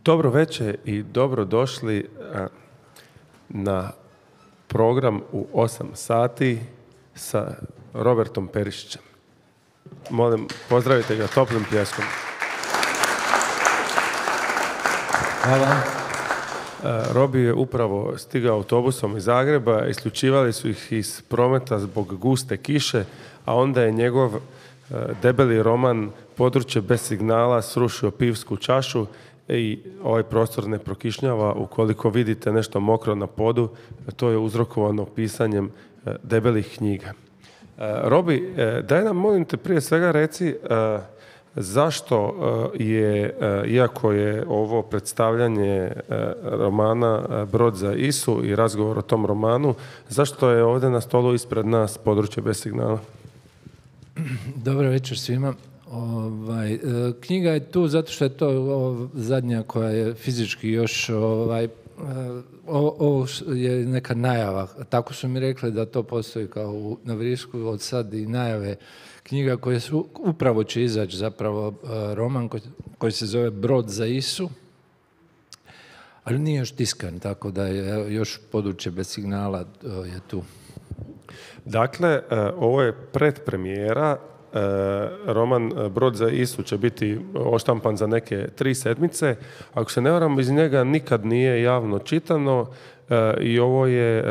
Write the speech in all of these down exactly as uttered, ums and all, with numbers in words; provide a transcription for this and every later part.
Dobro večer i dobro došli na program u osam sati sa Robertom Perišićem. Molim, pozdravite ga toplim pljeskom. Hvala. Robi je upravo stigao autobusom iz Zagreba, isključivali su ih iz prometa zbog guste kiše, a onda je njegov debeli roman Područje bez signala srušio pivsku čašu i ovaj prostor ne prokišnjava. Ukoliko vidite nešto mokro na podu, to je uzrokovano pisanjem debelih knjiga. Robi, daj nam, molim te, prije svega reci zašto je, iako je ovo predstavljanje romana Brod za Isu i razgovor o tom romanu, zašto je ovdje na stolu ispred nas Područje bez signala? Dobro večer svima. Ovaj, knjiga je tu zato što je to o, zadnja koja je fizički još ovaj, ovo, ovo je neka najava. Tako su mi rekli da to postoji kao u, na Vrisku od sad i najave knjiga koje su upravo će izaći zapravo roman koji, koji se zove Brod za Isu, ali nije još tiskan, tako da je još Područje bez signala je tu. Dakle, ovo je predpremijera. Roman Brod za Isu će biti oštampan za neke tri sedmice. Ako se ne varam, iz njega nikad nije javno čitano i ovo je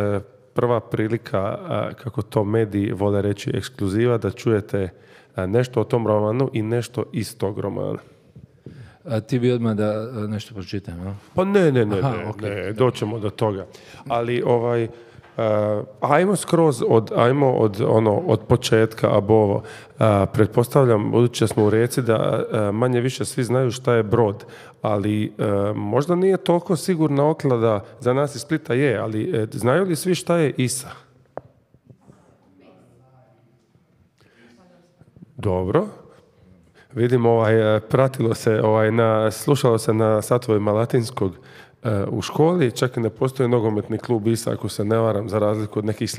prva prilika, kako to mediji vole reći, ekskluziva, da čujete nešto o tom romanu i nešto iz tog romana. A ti bi odmah da nešto pročitam, no? Pa ne, ne, ne, Aha, ne, okay. ne, doćemo do toga. Ali ovaj... Uh, ajmo skroz od, ajmo od, ono, od početka, abovo. Uh, pretpostavljam, budući da smo u Rijeci, da uh, manje više svi znaju šta je brod, ali uh, možda nije toliko sigurna oklada, za nas iz Splita je, ali uh, znaju li svi šta je Isa? Dobro. Vidim, ovaj, pratilo se, ovaj, na, slušalo se na satovima latinskog u školi, čak i ne postoji nogometni klub Isa, ako se ne varam, za razliku od nekih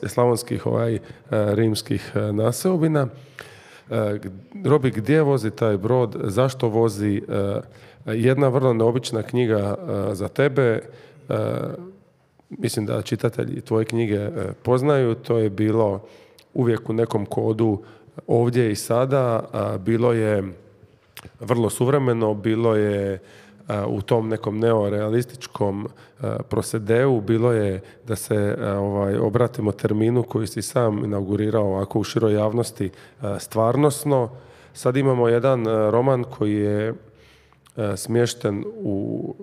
slavonskih ovaj, rimskih naseobina. Robi, gdje vozi taj brod, zašto vozi? Jedna vrlo neobična knjiga za tebe, mislim da čitatelji tvoje knjige poznaju, to je bilo uvijek u nekom kodu ovdje i sada, bilo je vrlo suvremeno, bilo je u tom nekom neorealističkom prosedeu, bilo je da se ovaj, obratimo terminu koji si sam inaugurirao ovako u široj javnosti stvarnosno. Sad imamo jedan roman koji je smješten u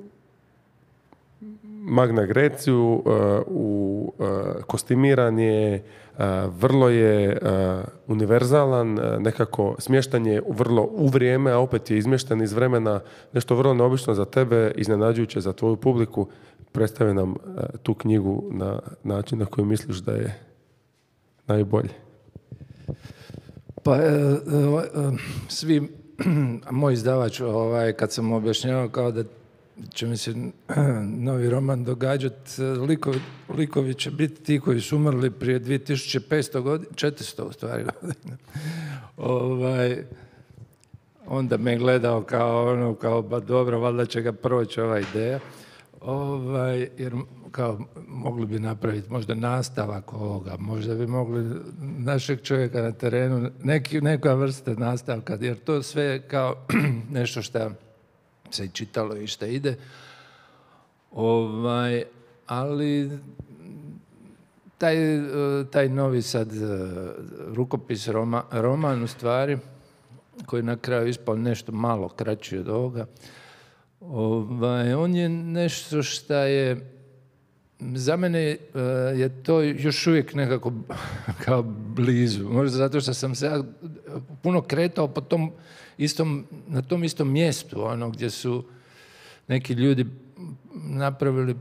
Magna Greciju, u kostimiran je, vrlo je univerzalan, nekako smještan je vrlo u vrijeme, a opet je izmješten iz vremena, nešto vrlo neobično za tebe, iznenađujuće za tvoju publiku. Predstavi nam tu knjigu na način na koji misliš da je najbolji. Pa, svi, moj izdavač, ovaj, kad sam objašnjavao kao da će mi se novi roman događati, likovi, likovi će biti ti koji su umrli prije dvije tisuće petsto godina, četiristo u stvari godina. ovaj, onda me gledao kao ono, kao ba dobro, valjda će ga proći ova ideja. Ovaj, jer kao mogli bi napraviti možda nastavak ovoga, možda bi mogli našeg čovjeka na terenu, neki, neka vrsta nastavka, jer to sve kao nešto što se i čitalo i što ide. Ovaj, ali taj, taj novi sad rukopis, roma, roman u stvari, koji na kraju ispao nešto malo kraći od ovoga, ovaj, on je nešto što je, za mene je to još uvijek nekako kao blizu. Možda zato što sam se puno kretao po tom istom, na tom istom mjestu, ono gdje su neki ljudi napravili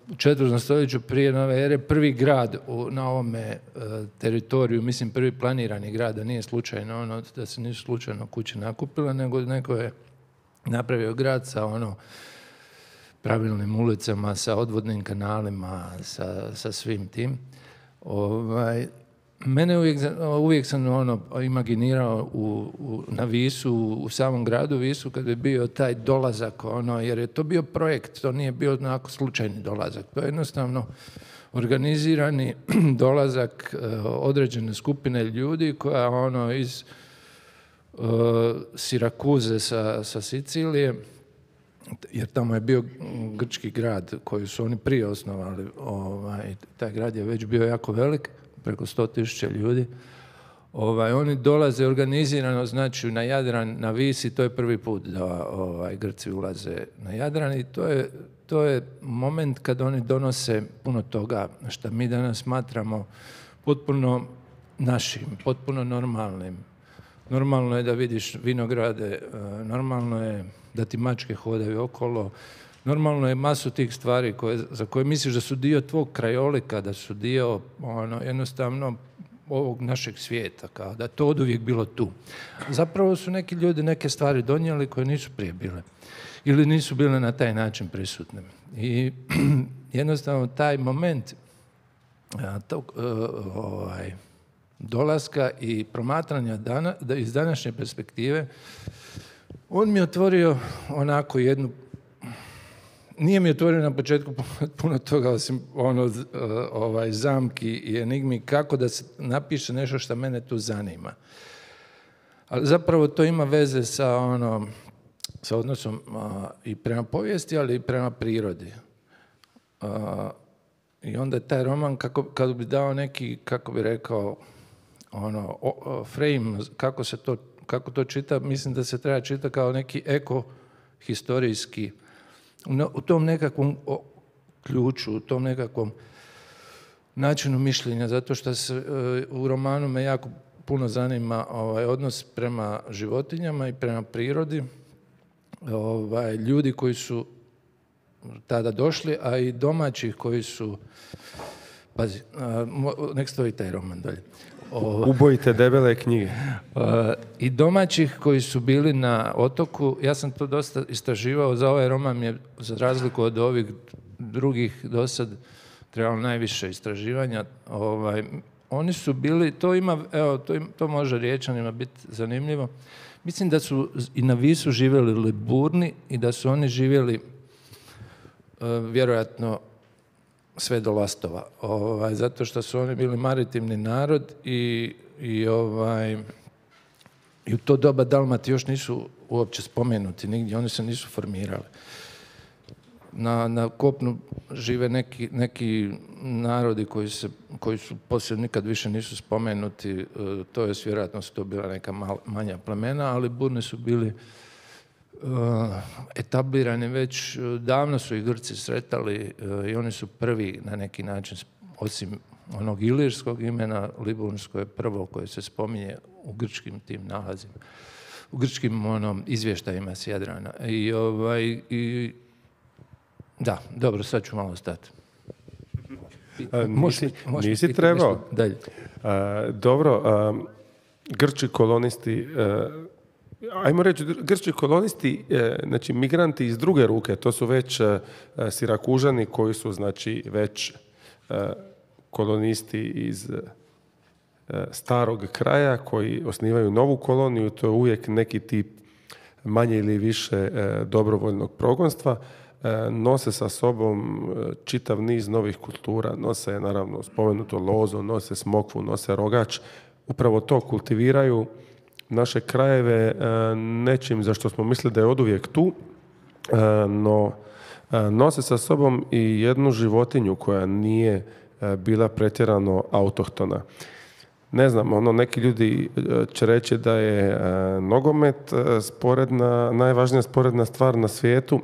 u četvrtom stoljeću prije nove ere prvi grad u, na ovome uh, teritoriju, mislim prvi planirani grad, da nije slučajno ono, da se nisu slučajno kuće nakupile, nego neko je napravio grad sa ono pravilnim ulicama, sa odvodnim kanalima, sa, sa svim tim. Ovaj, mene uvijek, uvijek sam ono imaginirao u, u, na Visu, u samom gradu Visu, kad je bio taj dolazak, ono, jer je to bio projekt, to nije bio onako slučajni dolazak. To je jednostavno organizirani dolazak uh, određene skupine ljudi koja ono iz uh, Sirakuze sa, sa Sicilije, jer tamo je bio grčki grad koji su oni prije osnovali, ovaj, taj grad je već bio jako velik, preko sto tisuća ljudi. Ovaj, oni dolaze organizirano, znači na Jadran, na Visi, to je prvi put da ovaj, Grci ulaze na Jadran i to je, to je moment kad oni donose puno toga što mi danas smatramo potpuno našim, potpuno normalnim. Normalno je da vidiš vinograde, normalno je da ti mačke hodaju okolo, normalno je masu tih stvari koje, za koje misliš da su dio tvog krajolika, da su dio ono, jednostavno ovog našeg svijeta, kao da to oduvijek bilo tu. Zapravo su neki ljudi neke stvari donijeli koje nisu prije bile ili nisu bile na taj način prisutne. I jednostavno taj moment tog, ovaj, dolaska i promatranja dana, da iz današnje perspektive, on mi je otvorio onako jednu, nije mi otvorio na početku puno toga osim ono, ovaj, zamki i enigmi kako da se napiše nešto što mene tu zanima. Ali zapravo to ima veze sa, ono, sa odnosom a, i prema povijesti, ali i prema prirodi. A, I onda taj roman, kako, kad bi dao neki, kako bi rekao, ono, o, o, frame, kako se to, kako to čita, mislim da se treba čitati kao neki eko-historijski, u tom nekakvom ključu, u tom nekakvom načinu mišljenja, zato što se u romanu me jako puno zanima ovaj, odnos prema životinjama i prema prirodi, ovaj, ljudi koji su tada došli, a i domaćih koji su, pazi, nek stoji taj roman dalje. O, Ubojite debele knjige. Uh, I domaćih koji su bili na otoku, ja sam to dosta istraživao, za ovaj roman je, za razliku od ovih drugih do sad, trebalo najviše istraživanja. Ovaj, oni su bili, to ima, evo, to, im, to može Riječanima biti zanimljivo. Mislim da su i na Visu živjeli Liburni i da su oni živjeli uh, vjerojatno sve do Lastova, ovaj, zato što su oni bili maritimni narod i, i, ovaj, i u to doba Dalmati još nisu uopće spomenuti nigdje, oni se nisu formirali. Na, na kopnu žive neki, neki narodi koji, se, koji su poslije nikad više nisu spomenuti, to je vjerojatno su to bila neka mal, manja plemena, ali Burni su bili Uh, etablirani već, davno su ih Grci sretali uh, i oni su prvi na neki način, osim onog ilirskog imena, Liburnsko je prvo koje se spominje u grčkim tim nalazima, u grčkim onom, izvještajima s Jadrana. I, ovaj, i, da, dobro, sad ću malo stati. Nisi, nisi trebao. Dalje. Uh, dobro, uh, Grči kolonisti, uh, ajmo reći, grčki kolonisti, znači migranti iz druge ruke, to su već Sirakužani koji su znači već kolonisti iz starog kraja koji osnivaju novu koloniju, to je uvijek neki tip manje ili više dobrovoljnog progonstva, nose sa sobom čitav niz novih kultura, nose naravno spomenuto lozo, nose smokvu, nose rogač, upravo to kultiviraju naše krajeve nečim za što smo mislili da je oduvijek tu, no nose sa sobom i jednu životinju koja nije bila pretjerano autohtona. Ne znam, ono, neki ljudi će reći da je nogomet sporedna, najvažnija sporedna stvar na svijetu.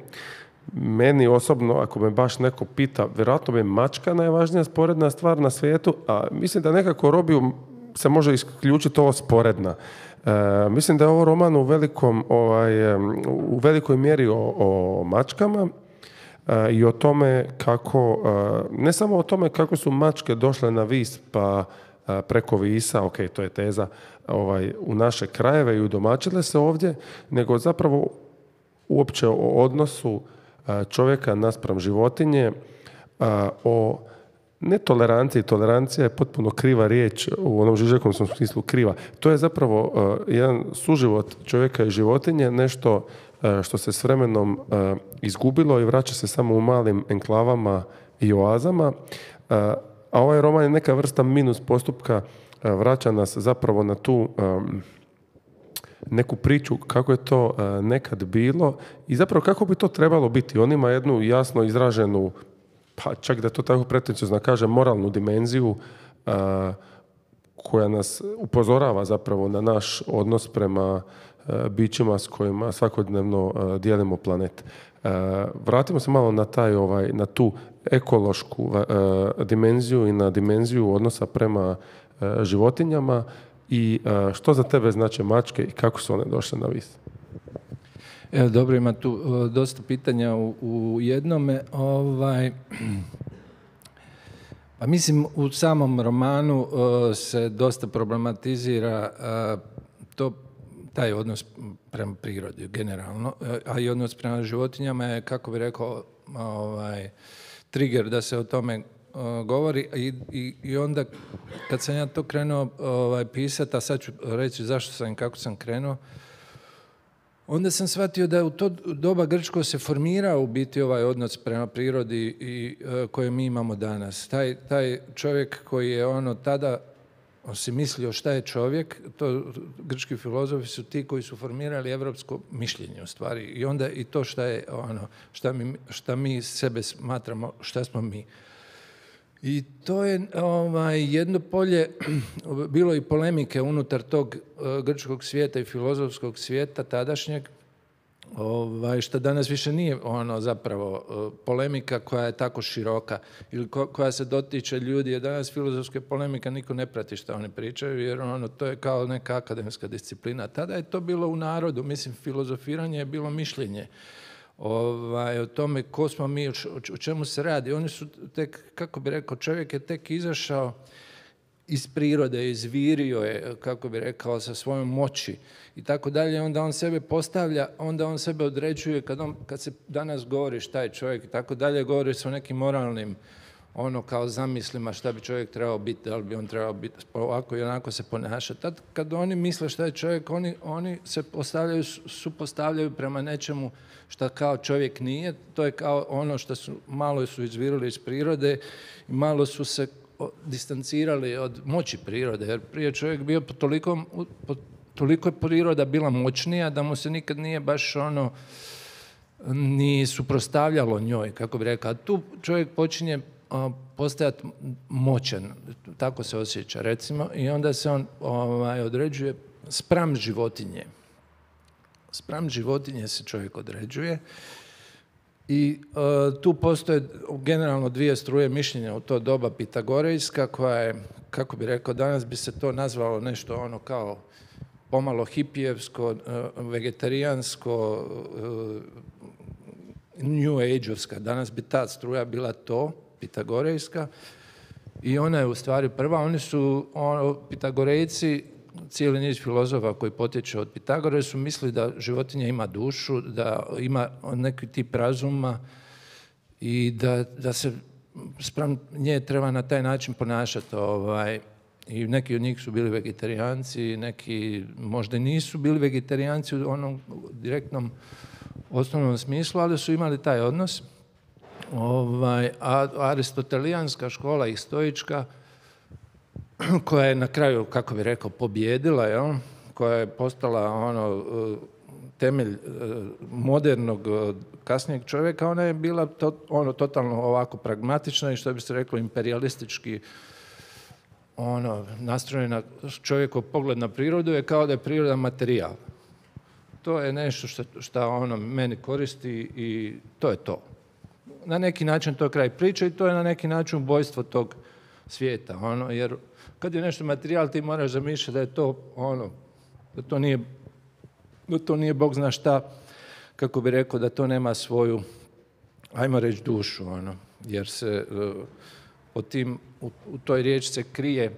Meni osobno, ako me baš neko pita, vjerojatno bi mačka najvažnija sporedna stvar na svijetu, a mislim da nekako Robiju se može isključiti ovo sporedna. E, mislim da je ovo roman u, velikom, ovaj, u velikoj mjeri o, o mačkama e, i o tome kako, e, ne samo o tome kako su mačke došle na Vis pa e, preko Visa, ok, to je teza, ovaj, u naše krajeve i udomačile se ovdje, nego zapravo uopće o odnosu čovjeka naspram životinje, o netoleranciji. Tolerancija je potpuno kriva riječ u onom Žižekovom smislu kriva. To je zapravo jedan suživot čovjeka i životinje, nešto što se s vremenom izgubilo i vraća se samo u malim enklavama i oazama. A ovaj roman je neka vrsta minus postupka, vraća nas zapravo na tu neku priču kako je to nekad bilo i zapravo kako bi to trebalo biti. On ima jednu jasno izraženu, pa čak da to tako pretenciozno kaže, moralnu dimenziju koja nas upozorava zapravo na naš odnos prema bićima s kojima svakodnevno dijelimo planet. Vratimo se malo na taj, ovaj, na tu ekološku dimenziju i na dimenziju odnosa prema životinjama i što za tebe znače mačke i kako su one došle na vis? Evo, dobro, ima tu uh, dosta pitanja u, u jednome. Ovaj, pa mislim, u samom romanu uh, se dosta problematizira uh, to, taj odnos prema prirodi generalno, a i odnos prema životinjama je, kako bi rekao, ovaj, trigger da se o tome uh, govori i, i, i onda kad sam ja to krenuo ovaj, pisati, a sad ću reći zašto sam i kako sam krenuo, onda sam shvatio da u to doba grčko se formirao u biti ovaj odnos prema prirodi i uh, koje mi imamo danas. Taj, taj čovjek koji je ono tada on si mislio šta je čovjek, to grčki filozofi su ti koji su formirali evropsko mišljenje u stvari i onda i to šta je ono, šta mi, šta mi sebe smatramo, šta smo mi. I to je ovaj, jedno polje, bilo i polemike unutar tog uh, grčkog svijeta i filozofskog svijeta tadašnjeg, ovaj, što danas više nije ono zapravo uh, polemika koja je tako široka ili ko, koja se dotiče ljudi, jer danas filozofske polemika niko ne prati što oni pričaju, jer ono, to je kao neka akademska disciplina. Tada je to bilo u narodu, mislim, filozofiranje je bilo mišljenje. Ovaj, o tome ko smo mi, o, o čemu se radi. Oni su tek, kako bi rekao, čovjek je tek izašao iz prirode, izvirio je, kako bi rekao, sa svojom moći i tako dalje. Onda on sebe postavlja, onda on sebe određuje kad, on, kad se danas govori šta je čovjek i tako dalje, govori se o nekim moralnim ono kao zamislima šta bi čovjek trebao biti, da li bi on trebao biti ovako i onako se ponašati. Tad kad oni misle šta je čovjek, oni, oni se postavljaju, supostavljaju prema nečemu šta kao čovjek nije. To je kao ono što su, malo su izvirili iz prirode i malo su se distancirali od moći prirode, jer prije čovjek bio po toliko, po toliko je priroda bila moćnija da mu se nikad nije baš ono ni suprotstavljalo njoj, kako bi rekao. A tu čovjek počinje postajati moćan, tako se osjeća recimo, i onda se on ovaj, određuje spram životinje. Spram životinje se čovjek određuje i uh, tu postoje generalno dvije struje mišljenja u to doba pitagorejska koja je, kako bi rekao, danas bi se to nazvalo nešto ono kao pomalo hipijevsko, uh, vegetarijansko, uh, new age-ovska. Danas bi ta struja bila to, pitagorejska, i ona je u stvari prva. Oni su, ono, pitagorejci, cijeli niz filozofa koji potječe od Pitagore su mislili da životinja ima dušu, da ima neki tip razuma i da, da se spram nje treba na taj način ponašati. Ovaj. I neki od njih su bili vegetarijanci, neki možda nisu bili vegetarijanci u onom direktnom osnovnom smislu, ali su imali taj odnos. Ovaj, a aristotelijanska škola i stoička, koja je na kraju, kako bi rekao, pobjedila, jel? Koja je postala ono, temelj modernog kasnijeg čovjeka, ona je bila to, ono, totalno ovako pragmatična i što bi se reklo imperialistički ono, nastrojena. Čovjekov pogled na prirodu je kao da je priroda materijal. To je nešto što, što ono meni koristi i to je to. Na neki način to je kraj priče i to je na neki način ubojstvo tog svijeta, ono, jer kad je nešto materijal ti moraš zamišljati da je to ono, da to nije, da to nije Bog zna šta, kako bi rekao, da to nema svoju, ajmo reći, dušu, ono, jer se uh, o tim, u, u toj riječi se krije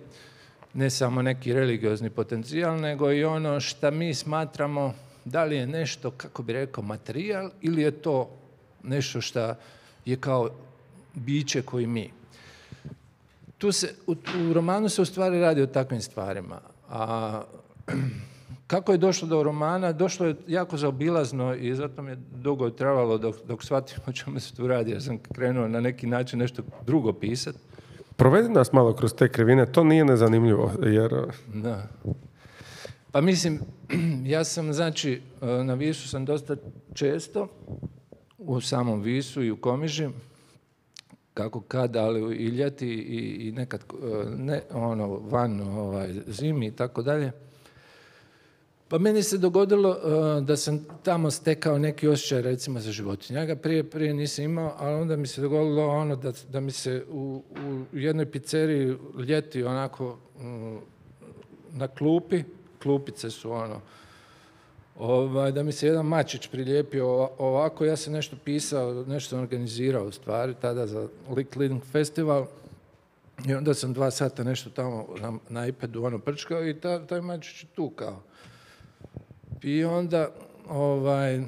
ne samo neki religiozni potencijal, nego i ono što mi smatramo da li je nešto, kako bi rekao, materijal ili je to nešto što je kao biće koji mi. Tu se, u, u romanu se u stvari radi o takvim stvarima. A kako je došlo do romana? Došlo je jako zaobilazno i zato mi je dugo trebalo dok, dok shvatim o čemu se tu radi. Ja sam krenuo na neki način nešto drugo pisati. Provedi nas malo kroz te krivine, to nije nezanimljivo, jer... Da. Pa mislim, ja sam, znači, na Visu sam dosta često, u samom Visu i u Komiži, kako kad, ali i ljeti i, i nekad ne, ono, van ovaj, zimi i tako dalje. Pa meni se dogodilo uh, da sam tamo stekao neki osjećaj recimo za životinje. Ja ga prije, prije nisam imao, ali onda mi se dogodilo ono da, da mi se u, u jednoj pizzeriji ljeti onako um, na klupi, klupice su ono, ovaj, da mi se jedan mačić prilijepio ovako, ja sam nešto pisao, nešto sam organizirao u stvari tada za Lick Link Festival i onda sam dva sata nešto tamo na, na iPadu ono prčkao i ta, taj mačić je tu kao. I onda ovaj,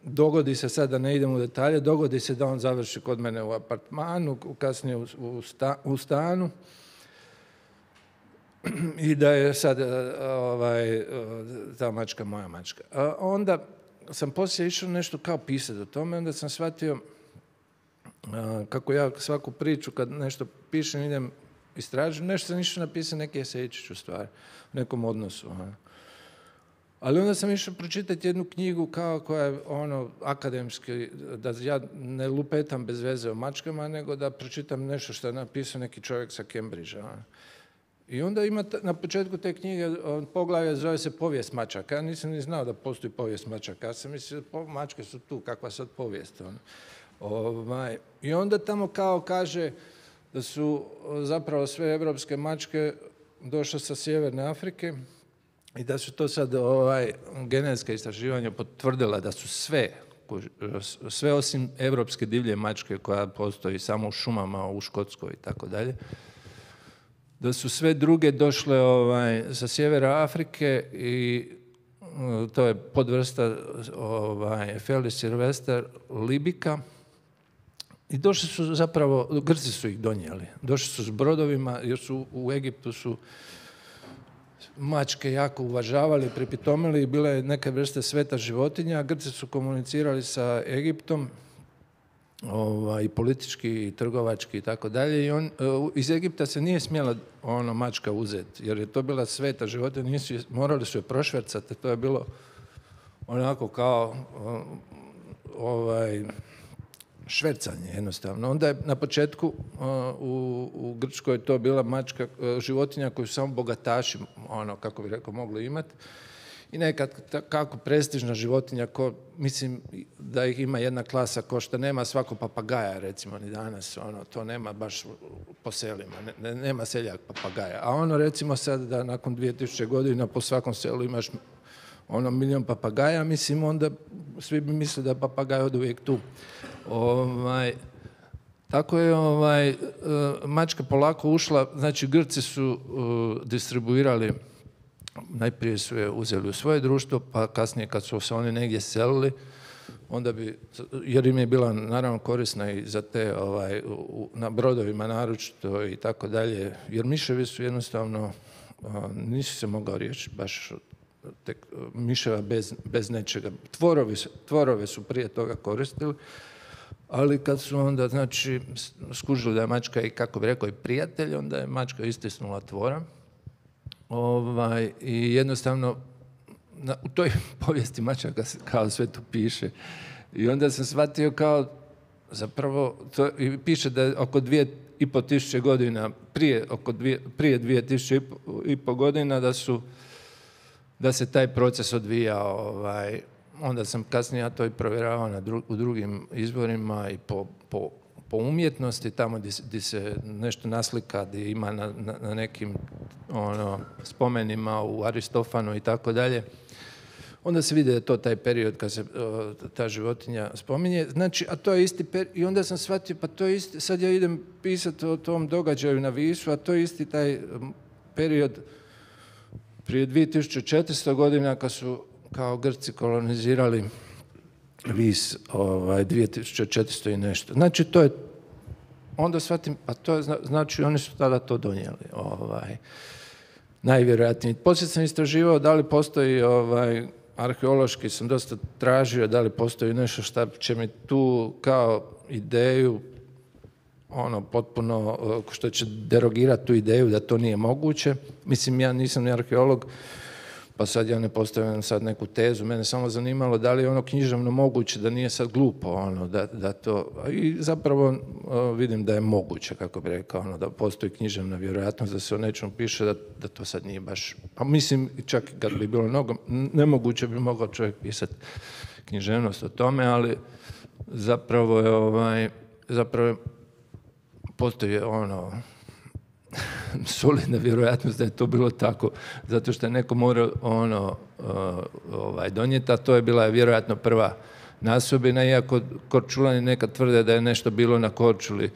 dogodi se sad, da ne idem u detalje, dogodi se da on završi kod mene u apartmanu, kasnije u, u, sta, u stanu i da je sad ovaj, ta mačka moja mačka. A onda sam poslije išao nešto kao pisati o tome, onda sam shvatio a, kako ja svaku priču kad nešto pišem idem istražujem, nešto sam išao napisati neki esejčić u stvari, u nekom odnosu. A. Ali onda sam išao pročitati jednu knjigu kao koja je ono akademski, da ja ne lupetam bez veze o mačkama, nego da pročitam nešto što je napisao neki čovjek sa Cambridgea. I onda ima na početku te knjige poglavlje zove se povijest mačaka. Ja nisam ni znao da postoji povijest mačaka. Ja sam mislio da mačke su tu, kakva sad povijest. Ono. Ovaj. I onda tamo kao kaže da su zapravo sve evropske mačke došle sa Sjeverne Afrike i da su to sad ovaj, genetska istraživanja potvrdila da su sve, sve osim evropske divlje mačke koja postoji samo u šumama, u Škotskoj i tako dalje, da su sve druge došle ovaj, sa sjevera Afrike i to je podvrsta ovaj, Felis silvester libica i došli su zapravo, Grci su ih donijeli, došli su s brodovima jer su u Egiptu su mačke jako uvažavali, pripitomili i bile je neke vrste sveta životinja. Grci su komunicirali sa Egiptom ovaj, politički, i trgovački i tako dalje. I on, iz Egipta se nije smjela ono mačka uzeti, jer je to bila sveta životinja, nisu, morali su je prošvercati, to je bilo onako kao ovaj, švercanje jednostavno. Onda je na početku uh, u, u Grčkoj to bila mačka, uh, životinja koju su samo bogataši, ono, kako bi rekao, mogli imati. I nekad ta, kako prestižna životinja, ko, mislim da ih ima jedna klasa ko što nema svako papagaja, recimo, ni danas, ono, to nema baš po selima, ne, nema seljak papagaja. A ono, recimo sad da nakon dvije tisuće godina po svakom selu imaš ono milion papagaja, mislim, onda svi bi mislili da je papagaj od uvijek tu. Ovaj, tako je ovaj, mačka polako ušla, znači Grci su uh, distribuirali, najprije su je uzeli u svoje društvo, pa kasnije kad su se oni negdje selili, onda bi, jer im je bila naravno korisna i za te ovaj, u, na brodovima naročito i tako dalje, jer miševi su jednostavno, uh, nisu se mogao riješiti baš tek, miševa bez, bez nečega. Tvorovi, tvorove su prije toga koristili, ali kad su onda, znači, skužili da je mačka i, kako bi rekao, i prijatelj, onda je mačka istisnula tvora. Ovaj, i jednostavno, na, u toj povijesti mačaka kao sve tu piše. I onda sam shvatio kao, zapravo, to, i piše da je oko dvije i po tisuće godina, prije, oko dvije, prije dvije tisuće i po, i po godina, da su, da se taj proces odvijao, ovaj, onda sam kasnije ja to i provjeravao na dru, u drugim izvorima i po, po, po umjetnosti, tamo gdje se nešto naslika, gdje ima na, na, na nekim ono, spomenima u Aristofanu i tako dalje. Onda se vidi da je to taj period kad se o, ta životinja spominje. Znači, a to je isti period. I onda sam shvatio, pa to je isti, sad ja idem pisati o tom događaju na Visu, a to je isti taj period prije dvije tisuće četiristo godina kad su kao Grci kolonizirali vis ovaj, dvije tisuće četiristo i nešto. Znači, to je, onda shvatim, a to je, znači, oni su tada to donijeli. Ovaj, najvjerojatnije. Poslije sam istraživao da li postoji, ovaj, arheološki sam dosta tražio, da li postoji nešto što će mi tu kao ideju, ono, potpuno, što će derogirati tu ideju da to nije moguće. Mislim, ja nisam ni arheolog, pa sad ja ne postavljam sad neku tezu, mene samo zanimalo da li je ono književno moguće, da nije sad glupo, ono, da, da to, i zapravo o, vidim da je moguće, kako bi rekao, ono, da postoji književna vjerojatnost da se o nečemu piše, da, da to sad nije baš, a mislim, čak kad bi bilo mnogo, nemoguće bi mogao čovjek pisati književnost o tome, ali zapravo je, ovaj, zapravo je, postoji ono, solidna vjerojatnost da je to bilo tako, zato što je neko morao ono, uh, ovaj, donijeti, a to je bila vjerojatno prva nasobina, iako Korčulani nekad tvrde da je nešto bilo na Korčuli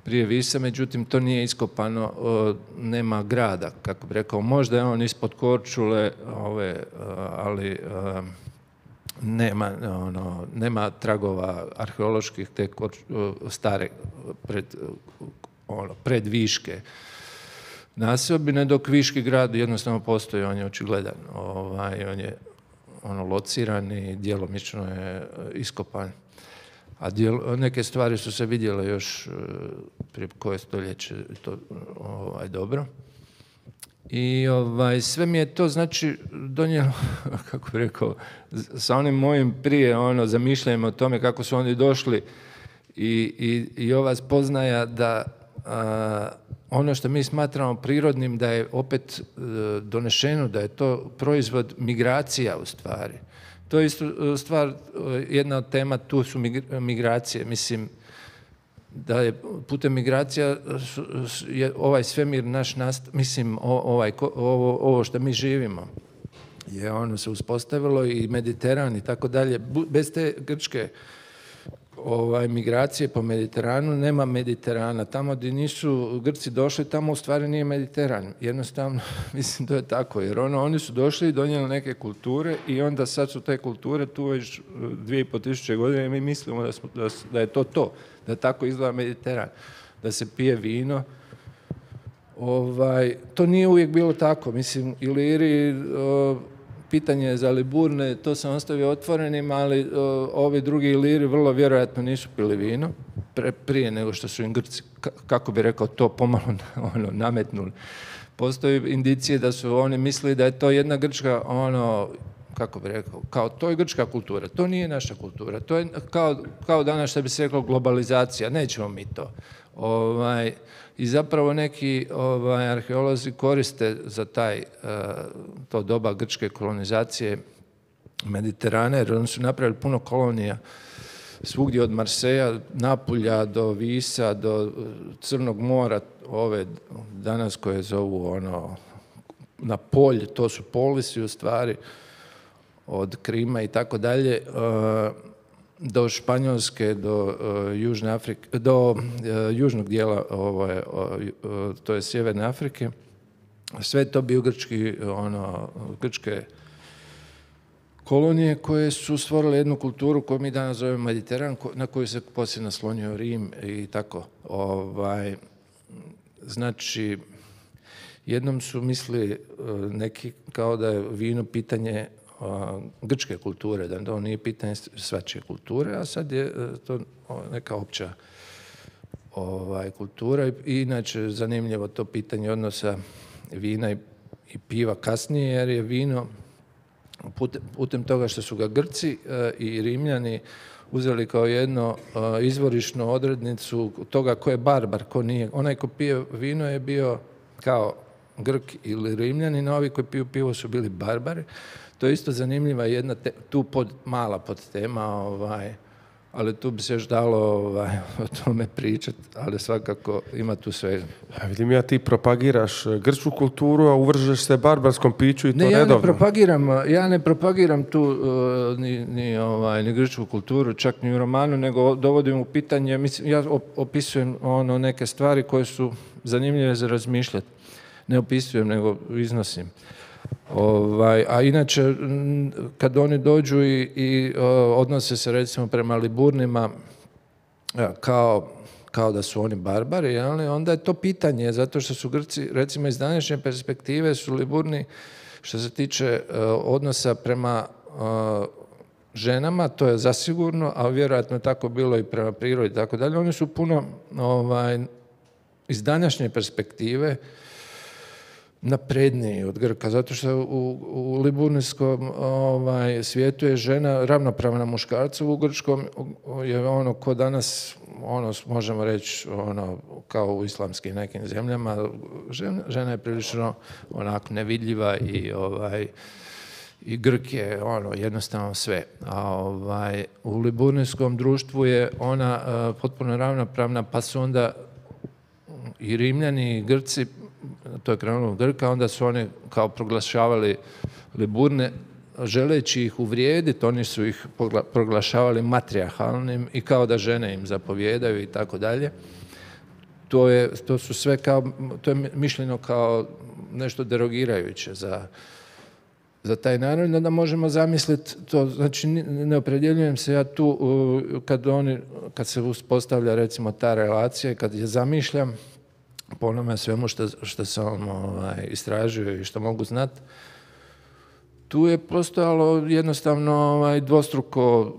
prije Visa, međutim to nije iskopano, uh, nema grada, kako bi rekao, možda je on ispod Korčule, ove, uh, ali uh, nema, ono, nema tragova arheoloških te korč, uh, stare pred, uh, ono, pred Viške nasobine, dok Viški grad jednostavno postoji, on je očigledan, ovaj, on je ono, lociran i djelomično je iskopan. A dijel, neke stvari su se vidjele još prije koje stoljeće, to ovaj, dobro. I ovaj, sve mi je to, znači, donijelo, kako bih rekao, sa onim mojim prije ono, zamišljanjem o tome kako su oni došli i, i, i ova spoznaja da a, ono što mi smatramo prirodnim da je opet e, donešeno, da je to proizvod migracija u stvari. To je isto stvar, jedna od tema, tu su migracije. Mislim, da je putem migracija je ovaj svemir naš nast, mislim, ovaj, ovo, ovo što mi živimo je ono se uspostavilo i Mediteran i tako dalje. Bez te grčke ovaj, migracije po Mediteranu nema Mediterana. Tamo gdje nisu Grci došli, tamo u stvari nije Mediteran. Jednostavno, mislim, to je tako. Jer ono, oni su došli i donijeli neke kulture i onda sad su te kulture tu već dvije i po tisuće godina i mi mislimo da, smo, da, da je to to. Da tako izgleda Mediteran. Da se pije vino. Ovaj, to nije uvijek bilo tako. Mislim, Iliri... O, pitanje za Liburne, to sam ostavio otvorenim, ali o, ovi drugi Iliri vrlo vjerojatno nisu pili vino pre, prije nego što su im Grci, kako bi rekao, to pomalo ono, nametnuli. Postoji indicije da su oni mislili da je to jedna grčka, ono, kako bi rekao, kao to je grčka kultura, to nije naša kultura, to je kao, kao danas što bi se rekao globalizacija, nećemo mi to. Ovaj, I zapravo neki ovaj, arheolozi koriste za taj, to doba grčke kolonizacije Mediterana, jer oni su napravili puno kolonija svugdje od Marseja, Napulja do Visa, do Crnog mora, ove danas koje zovu ono, na polj, to su polisi u stvari, od Krima i tako dalje, do Španjolske, do uh, Južne Afrike, do uh, južnog dijela, ovaj, uh, to je Sjeverne Afrike. Sve to bio grčki, ono, grčke kolonije koje su stvorile jednu kulturu koju mi danas zovemo Mediteran, na koju se poslije naslonio Rim i tako. Ovaj, znači, jednom su mislili uh, neki kao da je vino pitanje grčke kulture, da to nije pitanje svačije kulture, a sad je to neka opća ovaj, kultura. I inače zanimljivo to pitanje odnosa vina i, i piva kasnije, jer je vino putem, putem toga što su ga Grci e, i Rimljani uzeli kao jedno e, izvorišnu odrednicu toga ko je barbar, ko nije. Onaj ko pije vino je bio kao Grk ili Rimljanin, a ovi koji piju pivo su bili barbari. To je isto zanimljiva jedna te, tu pod, mala podtema, ovaj, ali tu bi se još dalo ovaj, o tome pričati, ali svakako ima tu sve. Ja vidim, ja ti propagiraš grčku kulturu, a uvržeš se barbarskom piću i to ne, ja redovno. Ne propagiram, ja ne propagiram tu uh, ni, ni, ovaj, ni grčku kulturu, čak ni u romanu, nego dovodim u pitanje, mislim, ja opisujem ono, neke stvari koje su zanimljive za razmišljati. Ne opisujem, nego iznosim. Ovaj, a inače, kad oni dođu i, i odnose se recimo prema Liburnima kao, kao da su oni barbari, ali onda je to pitanje, zato što su Grci, recimo iz današnje perspektive, su Liburni, što se tiče uh, odnosa prema uh, ženama, to je zasigurno, a vjerojatno tako bilo i prema prirodi i tako dalje. Oni su puno ovaj, iz današnje perspektive napredniji od Grka, zato što u, u liburnijskom ovaj, svijetu je žena ravnopravna muškarcu, u grčkom je ono ko danas, ono možemo reći ono, kao u islamskim nekim zemljama, žena, žena je prilično onako nevidljiva i ovaj, i Grk je ono, jednostavno sve. A ovaj, u liburnijskom društvu je ona uh, potpuno ravnopravna, pa su onda i Rimljani i Grci, to je krenulo u Grka, onda su oni kao proglašavali Liburne, želeći ih uvrijediti, oni su ih proglašavali matrijarhalnim i kao da žene im zapovijedaju i tako dalje. To je, to su sve kao, to je mišljeno kao nešto derogirajuće za za taj narod, onda možemo zamisliti to, znači ne opredjeljujem se ja tu kad, oni, kad se uspostavlja recimo ta relacija i kad je zamišljam po onome svemu što, što sam ovaj, istražio i što mogu znati, tu je postojalo jednostavno ovaj, dvostruko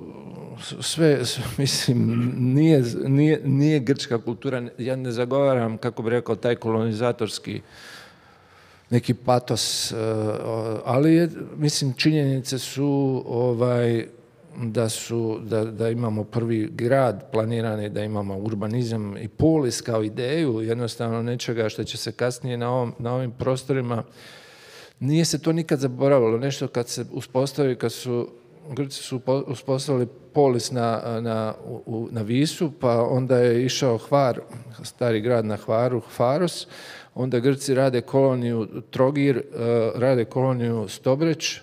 sve, mislim, nije, nije, nije grčka kultura, ja ne zagovaram, kako bi rekao, taj kolonizatorski neki patos, ali je, mislim, činjenice su ovaj, da, su da, da imamo prvi grad planirani, da imamo urbanizam i polis kao ideju, jednostavno nečega što će se kasnije na, ovom, na ovim prostorima, nije se to nikad zaboravilo, nešto kad se uspostavi, kad su Grci su uspostavili polis na, na, u, na Visu, pa onda je išao Hvar, stari grad na Hvaru, Faros, onda Grci rade koloniju Trogir, rade koloniju Stobreć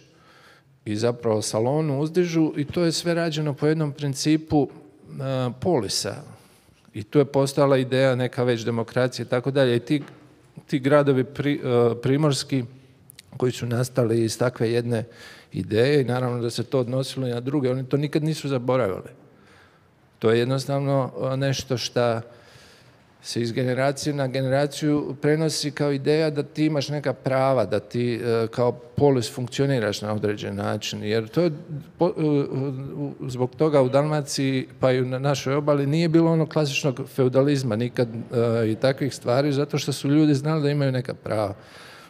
i zapravo Salonu uzdižu i to je sve rađeno po jednom principu polisa. I tu je postala ideja neka već demokracije i tako dalje. I ti, ti gradovi pri, primorski koji su nastali iz takve jedne ideje i naravno da se to odnosilo i na druge, oni to nikad nisu zaboravili. To je jednostavno nešto što se iz generacije na generaciju prenosi kao ideja da ti imaš neka prava, da ti kao polis funkcioniraš na određen način. Jer to je, zbog toga u Dalmaciji pa i na našoj obali nije bilo ono klasičnog feudalizma nikad i takvih stvari, zato što su ljudi znali da imaju neka prava.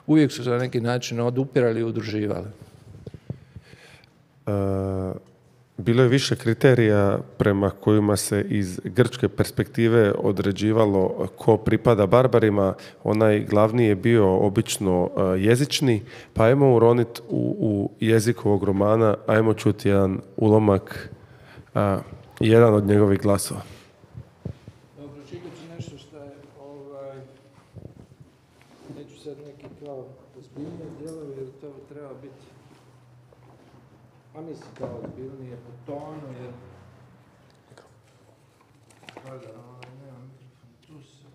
Uvijek su se na neki način odupirali i udruživali. Uh... Bilo je više kriterija prema kojima se iz grčke perspektive određivalo ko pripada barbarima. Onaj glavni je bio obično jezični, pa ajmo uroniti u, u jezik ovog romana, ajmo čuti jedan ulomak, a, jedan od njegovih glasova. Dobro, čitat ću nešto što je, ovaj, neću sad neki kao ozbiljnije dijelovi, jer to treba biti, a mislim kao ozbiljnije po tonu, jer kada, ovaj, nemam mikrofon, tu se.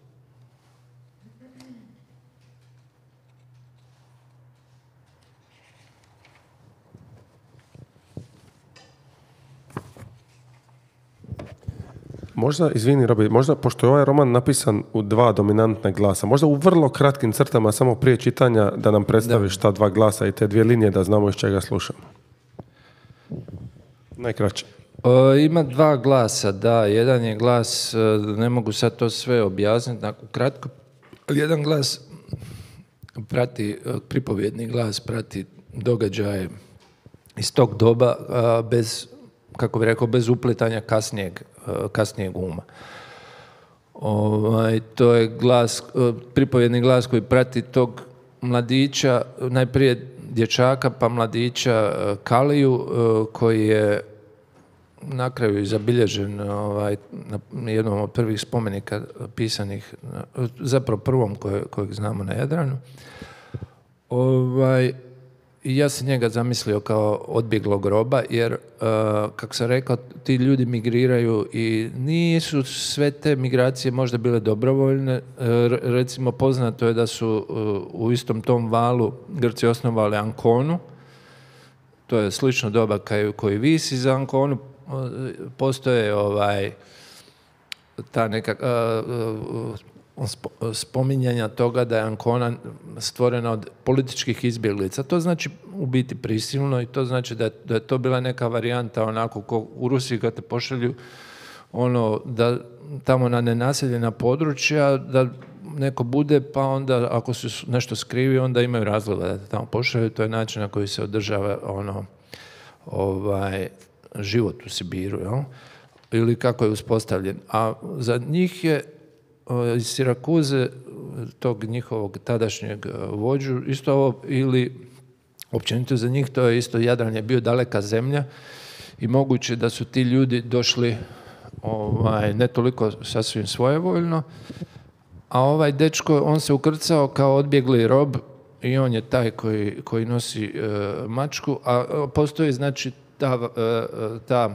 Možda, izvini Robi, možda, pošto je ovaj roman napisan u dva dominantna glasa, možda u vrlo kratkim crtama, samo prije čitanja, da nam predstaviš ta dva glasa i te dvije linije, da znamo iz čega slušamo. Najkraće. O, ima dva glasa, da. Jedan je glas, ne mogu sad to sve objasniti, nakon kratko. Jedan glas prati, pripovjedni glas prati događaje iz tog doba bez, kako bih rekao, bez uplitanja kasnijeg, kasnijeg uma. Ovaj, to je glas, pripovjedni glas koji prati tog mladića, najprije dječaka pa mladića Kaliju, koji je na kraju zabilježen ovaj, na jednom od prvih spomenika pisanih, zapravo prvom koje, kojeg znamo na Jadranu. Ovaj, i ja sam njega zamislio kao odbjeglog roba, jer, uh, kako sam rekao, ti ljudi migriraju i nisu sve te migracije možda bile dobrovoljne. Uh, recimo, poznato je da su uh, u istom tom valu Grci osnovali Anconu. To je slično doba kaj, koji visi za Anconu. Uh, postoje ovaj, ta neka... Uh, uh, spominjanja toga da je Ancona stvorena od političkih izbjeglica. To znači u biti prisilno i to znači da je, da je to bila neka varijanta onako ko u Rusiji kad te pošalju ono da tamo na nenaseljena područja da neko bude, pa onda ako su nešto skrivi onda imaju razloga da te tamo pošalju. To je način na koji se održava ono ovaj život u Sibiru, jel? Ili kako je uspostavljen. A za njih je iz Sirakuze, tog njihovog tadašnjeg vođu, isto ovo, ili općenito za njih, to je isto, Jadran je bio daleka zemlja i moguće da su ti ljudi došli ovaj, ne toliko sasvim svojevoljno, a ovaj dečko, on se ukrcao kao odbjegli rob i on je taj koji, koji nosi e, mačku, a postoji znači ta, e, ta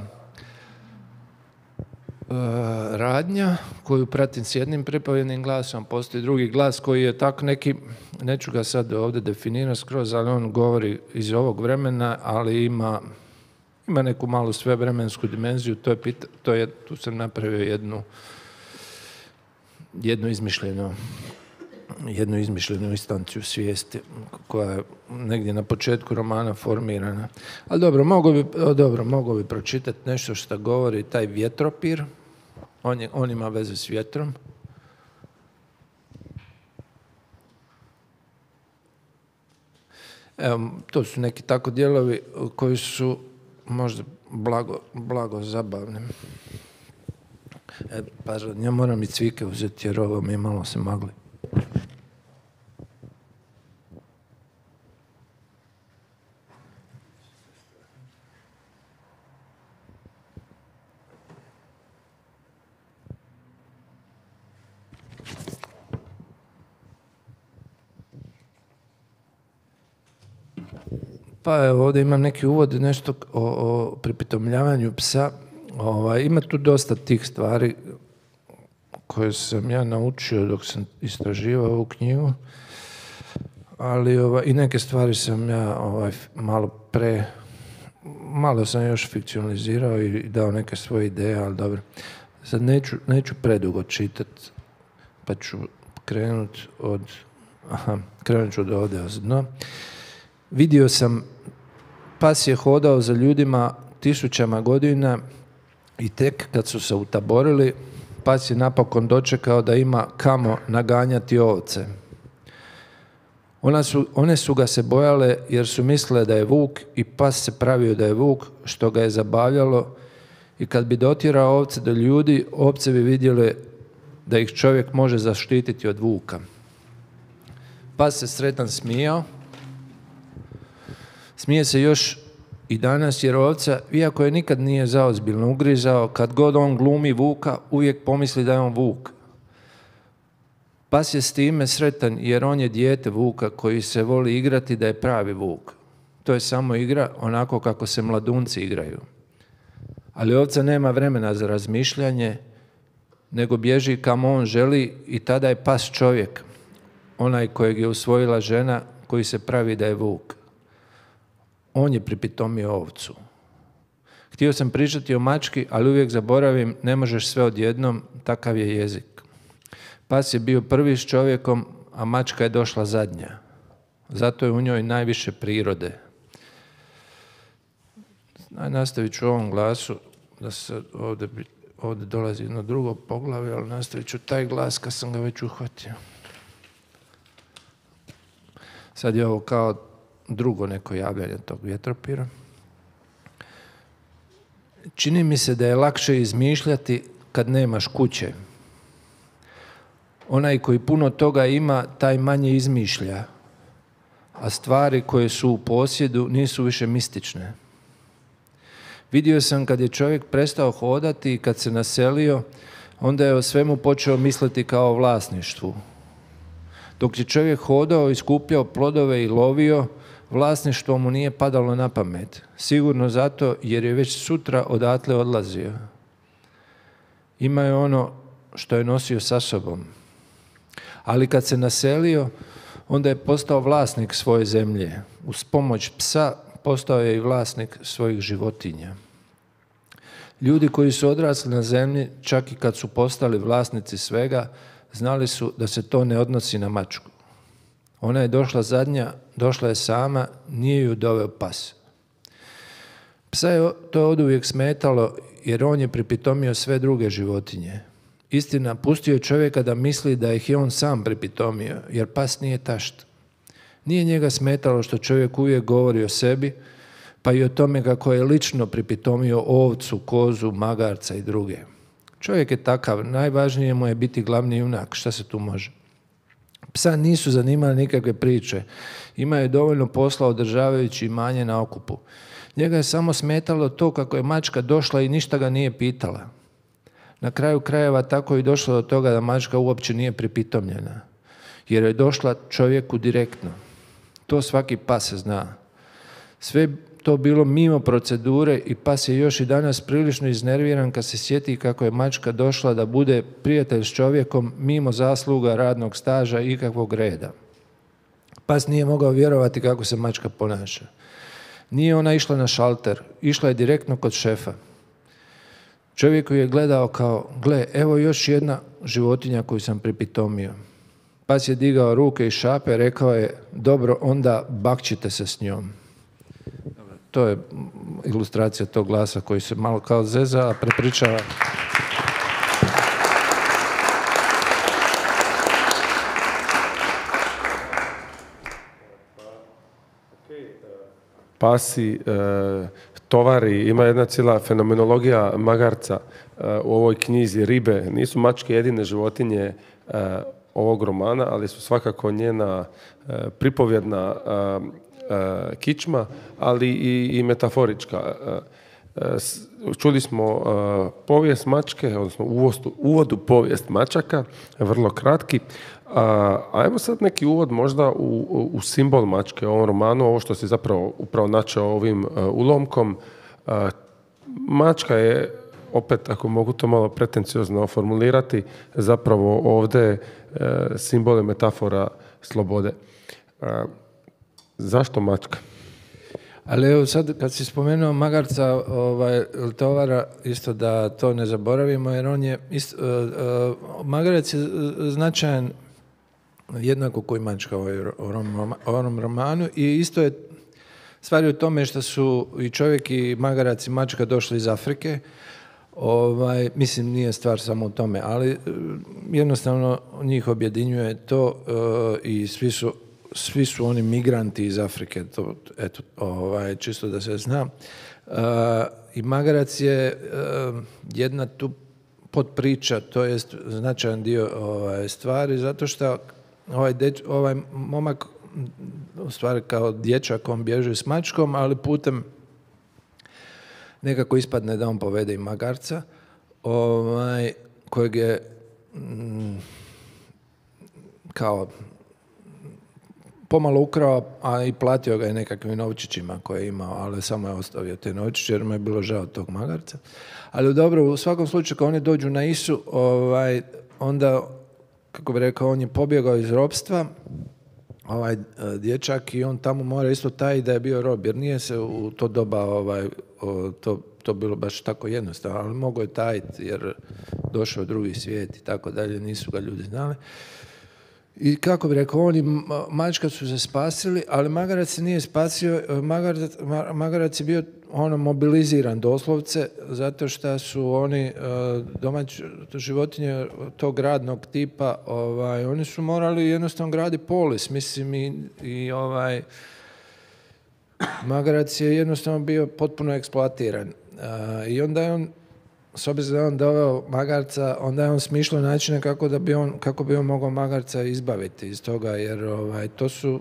radnja koju pratim s jednim pripovjednim glasom, postoji drugi glas koji je tak neki, neću ga sad ovdje definirati skroz, ali on govori iz ovog vremena, ali ima, ima neku malu svevremensku dimenziju, to je, pita, to je, tu sam napravio jednu, jednu izmišljenu jednu izmišljenu instanciju svijesti koja je negdje na početku romana formirana. Ali dobro, mogu bi, dobro, mogu bi pročitati nešto što govori taj vjetropir. On, je, on ima veze s vjetrom. Evo, to su neki tako dijelovi koji su možda blago, blago zabavni. E, pa ja moram i cvike uzeti jer ovo mi malo se magli. Pa evo, ovdje imam neki uvod, nešto o, o pripitomljavanju psa. Ovaj, ima tu dosta tih stvari koje sam ja naučio dok sam istraživao ovu knjigu, ali ovaj, i neke stvari sam ja ovaj, malo pre, malo sam još fikcionalizirao i dao neke svoje ideje, ali dobro. Sad neću, neću predugo čitati, pa ću krenut od, aha, krenut ću od ovdje no. Vidio sam, pas je hodao za ljudima tisućama godina i tek kad su se utaborili, pas je napokon dočekao da ima kamo naganjati ovce. Ona su, one su ga se bojale jer su mislile da je vuk i pas se pravio da je vuk, što ga je zabavljalo i kad bi dotjerao ovce do ljudi, ovce bi vidjele da ih čovjek može zaštititi od vuka. Pas se sretan smijao. Smije se još i danas jer ovca, iako je nikad nije zaozbiljno ugrizao, kad god on glumi vuka, uvijek pomisli da je on vuk. Pas je s time sretan jer on je dijete vuka koji se voli igrati da je pravi vuk. To je samo igra onako kako se mladunci igraju. Ali ovca nema vremena za razmišljanje, nego bježi kamo on želi i tada je pas čovjek, onaj kojeg je usvojila žena koji se pravi da je vuk. On je pripitomio ovcu. Htio sam pričati o mački, ali uvijek zaboravim, ne možeš sve odjednom, takav je jezik. Pas je bio prvi s čovjekom, a mačka je došla zadnja. Zato je u njoj najviše prirode. Nastavit ću u ovom glasu, da se ovdje, ovdje dolazi jedno drugo poglavlje, ali nastavit ću taj glas kad sam ga već uhvatio. Sad je ovo kao drugo neko javljanje tog vjetropira. Čini mi se da je lakše izmišljati kad nemaš kuće. Onaj koji puno toga ima, taj manje izmišlja, a stvari koje su u posjedu nisu više mistične. Vidio sam kad je čovjek prestao hodati i kad se naselio, onda je o svemu počeo misliti kao o vlasništvu. Dok je čovjek hodao i skupljao plodove i lovio, vlasništvo mu nije padalo na pamet. Sigurno zato jer je već sutra odatle odlazio. Imao je ono što je nosio sa sobom. Ali kad se naselio, onda je postao vlasnik svoje zemlje. Uz pomoć psa postao je i vlasnik svojih životinja. Ljudi koji su odrasli na zemlji, čak i kad su postali vlasnici svega, znali su da se to ne odnosi na mačku. Ona je došla zadnja, došla je sama, nije ju doveo pas. Psa je to oduvijek smetalo jer on je pripitomio sve druge životinje. Istina, pustio je čovjeka da misli da ih je on sam pripitomio, jer pas nije tašt. Nije njega smetalo što čovjek uvijek govori o sebi, pa i o tome kako je lično pripitomio ovcu, kozu, magarca i druge. Čovjek je takav, najvažnije mu je biti glavni junak, šta se tu može. Psa nisu zanimali nikakve priče, imao je dovoljno posla održavajući imanje na okupu. Njega je samo smetalo to kako je mačka došla i ništa ga nije pitala. Na kraju krajeva tako je došlo do toga da mačka uopće nije pripitomljena, jer je došla čovjeku direktno. To svaki pas zna. Sve to bilo mimo procedure i pas je još i danas prilično iznerviran kad se sjeti kako je mačka došla da bude prijatelj s čovjekom mimo zasluga radnog staža i ikakvog reda. Pas nije mogao vjerovati kako se mačka ponaša. Nije ona išla na šalter, išla je direktno kod šefa. Čovjek ju je gledao kao, gle, evo još jedna životinja koju sam pripitomio. Pas je digao ruke i šape, rekao je, dobro, onda bakćite se s njom. To je ilustracija tog glasa koji se malo kao zeza, a prepričava. Pasi, e, tovari, ima jedna cijela fenomenologija magarca e, u ovoj knjizi Ribe. Nisu mačke jedine životinje e, ovog romana, ali su svakako njena e, pripovjedna e, e, kičma, ali i, i metaforička. E, e, čuli smo e, povijest mačke, odnosno uvod, uvod u povijest mačaka, vrlo kratki. A, ajmo sad neki uvod možda u, u, u simbol mačke, u ovom romanu, ovo što si zapravo upravo načeo ovim uh, ulomkom. Uh, mačka je, opet ako mogu to malo pretenciozno formulirati, zapravo ovdje uh, simbol i metafora slobode. Uh, zašto mačka? Ali evo sad kad si spomenuo magarca, ovaj, tovara, isto da to ne zaboravimo, jer on je, isto, uh, uh, magarac je značajan jednako koji mačka u ovom romanu i isto je stvar u tome što su i čovjek i magarac i mačka došli iz Afrike. Ovaj, mislim, nije stvar samo u tome, ali jednostavno njih objedinjuje to uh, i svi su, svi su oni migranti iz Afrike, to, eto, ovaj, čisto da se zna. Uh, I magarac je uh, jedna tu podpriča, to je značajan dio ovaj, stvari, zato što Ovaj, deč, ovaj momak u stvari kao dječak on bježi s mačkom, ali putem nekako ispadne da on povede i magarca ovaj, kojeg je mm, kao pomalo ukrao, a i platio ga je nekakvim novčićima koje je imao, ali samo je ostavio te novčiće jer mu je bilo žao tog magarca. Ali dobro, u svakom slučaju kad oni dođu na Isu, ovaj, onda kako bi rekao, on je pobjegao iz ropstva, ovaj dječak, i on tamo mora isto taj da je bio rob, jer nije se u to doba ovaj, to, to bilo baš tako jednostavno, ali mogao je tajiti jer došao drugi svijet i tako dalje, nisu ga ljudi znali. I kako bi rekao, oni mačka su se spasili, ali magarac se nije spasio, magarac, magarac je bio ono mobiliziran doslovce, zato što su oni domaće životinje tog radnog tipa, ovaj, oni su morali jednostavno graditi polis, mislim, i, i ovaj, magarac je jednostavno bio potpuno eksploatiran. I onda je on, s obzirom da je on doveo magarca, onda je on smišljao načine kako, da bi on, kako bi on mogao magarca izbaviti iz toga, jer ovaj, to su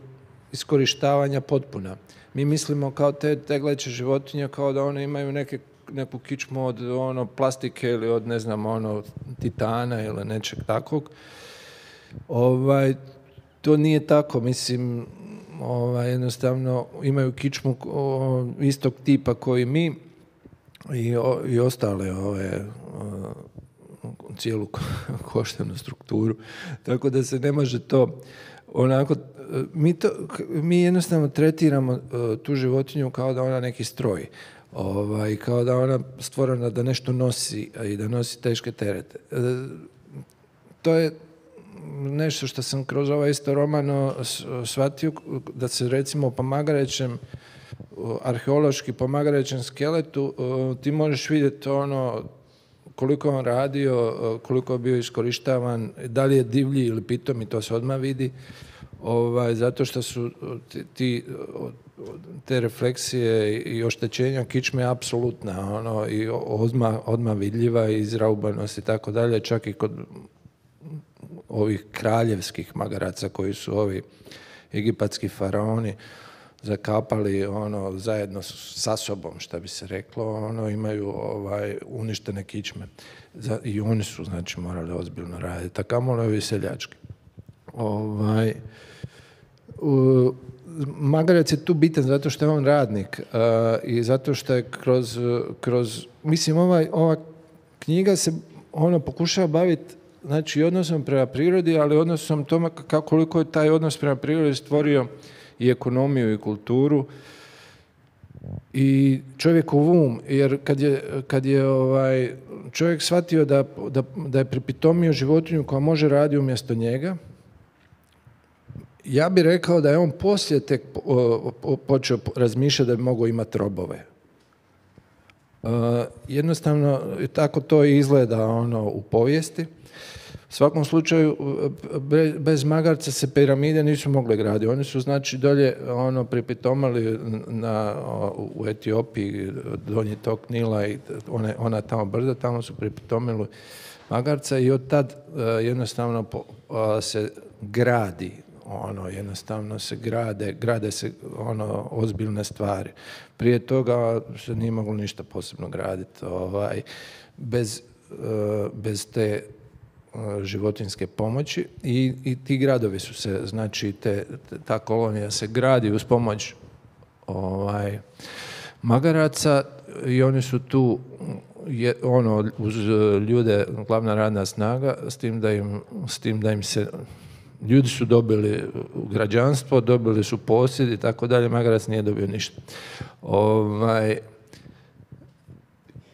iskorištavanja potpuna. Mi mislimo kao te tegleće životinje kao da one imaju neke, neku kičmu od ono, plastike ili od ne znam ono, titana ili nečeg takvog. Ovaj, to nije tako, mislim, ovaj, jednostavno imaju kičmu o, istog tipa koji mi i, o, i ostale ove o, cijelu koštanu strukturu, tako da se ne može to onako, mi, to, mi jednostavno tretiramo uh, tu životinju kao da ona neki stroj, ovaj, kao da ona stvorena da nešto nosi i da nosi teške terete. Uh, to je nešto što sam kroz ovaj isto roman shvatio, da se recimo po Magarećem, arheološki po Magarećem skeletu, uh, ti možeš vidjeti ono koliko je on radio, koliko je bio iskorištavan, da li je divlji ili pitomi, to se odmah vidi, ovaj, zato što su ti, ti, te refleksije i oštećenja kičme apsolutna, ono, i odmah, odmah vidljiva i izraubanost i tako dalje, čak i kod ovih kraljevskih magaraca koji su ovi egipatski faraoni zakapali ono zajedno sa sobom, što bi se reklo, ono imaju ovaj uništene kičme. Za, i oni su znači morali ozbiljno raditi, a kamoli ovi seljački. Ovaj u, Magarac je tu bitan zato što je on radnik uh, i zato što je kroz, kroz mislim ovaj, ova knjiga se ono pokušava baviti znači odnosom prema prirodi, ali odnosom tome kako, koliko je taj odnos prema prirodi stvorio i ekonomiju i kulturu i čovjekov um, jer kad je, kad je ovaj, čovjek shvatio da, da, da je pripitomio životinju koja može raditi umjesto njega, ja bih rekao da je on poslije tek počeo razmišljati da bi mogao imati robove. Uh, jednostavno, tako to izgleda ono, u povijesti. U svakom slučaju, bez magarca se piramide nisu mogle graditi. Oni su, znači, dolje ono, pripitomali na, u Etiopiji, donji tok Nila i one, ona tamo brda, tamo su pripitomili magarca i od tad uh, jednostavno po, uh, se gradi, ono, jednostavno se grade, grade se ono, ozbiljne stvari. Prije toga se nije moglo ništa posebno graditi. Ovaj, bez, uh, bez te životinjske pomoći i, i ti gradovi su se, znači te, ta kolonija se gradi uz pomoć ovaj, magaraca i oni su tu je, ono, uz ljude glavna radna snaga, s tim da im, s tim da im se ljudi su dobili građanstvo, dobili su posjed i tako dalje, magarac nije dobio ništa. Ovaj,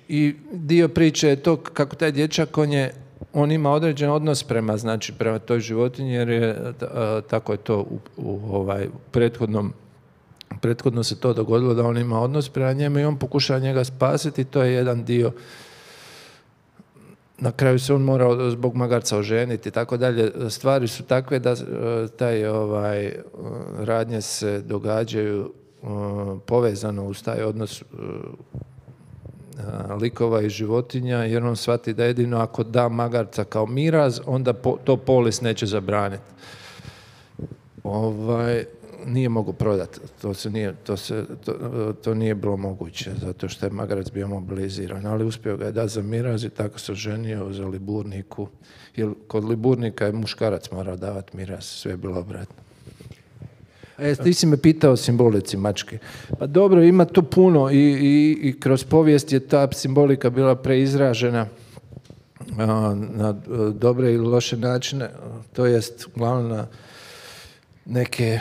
i dio priče je to kako taj dječak, on je on ima određen odnos prema, znači, prema toj životinji, jer je, a, tako je to u, u ovaj, prethodnom, prethodno se to dogodilo da on ima odnos prema njemu i on pokušava njega spasiti, to je jedan dio. Na kraju se on mora zbog magarca oženiti i tako dalje. Stvari su takve da taj ovaj, radnje se događaju a, povezano uz taj odnos likova i životinja, jer on shvati da jedino ako da magarca kao miraz, onda po, to polis neće zabraniti. Ovaj, nije mogu prodati, to, se nije, to, se, to, to nije bilo moguće, zato što je magarac bio mobiliziran, ali uspio ga je dati za miraz i tako se oženio za Liburniku, jer kod Liburnika je muškarac morao davati miraz, sve je bilo obratno. E, ti si me pitao o simbolici mačke. Pa dobro, ima to puno i, i, i kroz povijest je ta simbolika bila preizražena a, na dobre ili loše načine, to jest uglavnom na neke,